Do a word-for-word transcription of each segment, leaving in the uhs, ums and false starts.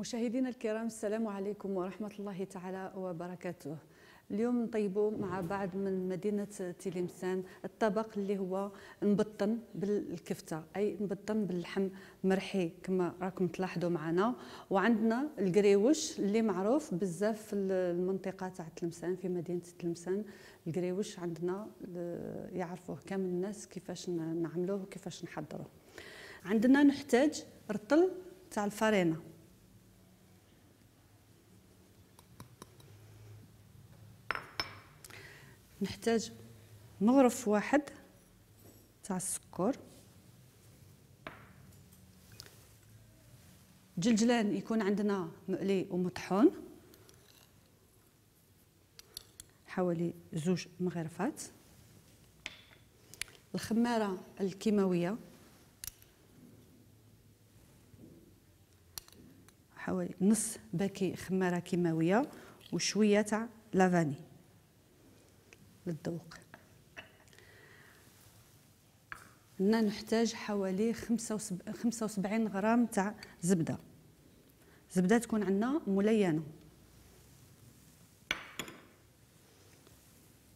مشاهدينا الكرام، السلام عليكم ورحمة الله تعالى وبركاته. اليوم نطيبوا مع بعض من مدينة تلمسان الطبق اللي هو مبطن بالكفتة، أي مبطن باللحم مرحي كما راكم تلاحظوا معنا. وعندنا القريوش اللي معروف بزاف في المنطقة تاع تلمسان، في مدينة تلمسان. القريوش عندنا يعرفوه كامل الناس كيفاش نعملوه وكيفاش نحضروه. عندنا نحتاج رطل تاع الفرينة، نحتاج مغرف واحد تاع السكر، جلجلان يكون عندنا مقلي ومطحون حوالي زوج مغرفات، الخمارة الكيماوية حوالي نص باكي خمارة كيماوية وشوية تاع لافاني للذوق. هنا نحتاج حوالي خمسة وسبعين غرام تاع زبدة، زبدة تكون عندنا ملينة.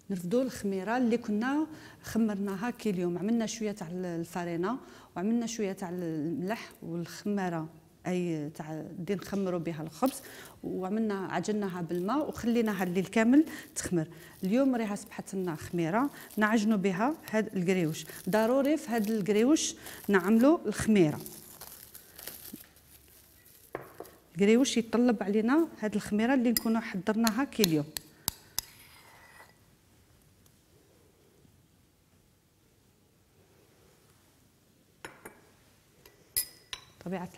نرفدوا الخميرة اللي كنا خمرناها كي اليوم، عملنا شوية تاع الفرينة وعملنا شوية تاع الملح والخمارة اي تاع دي نخمروا بها الخبز، وعملنا عجناها بالماء وخليناها الليل كامل تخمر. اليوم راها صبحت لنا خميره نعجنوا بها هاد القريوش. ضروري في هاد القريوش نعملوا الخميره، القريوش يطلب علينا هاد الخميره اللي نكونوا حضرناها كي اليوم. طبيعة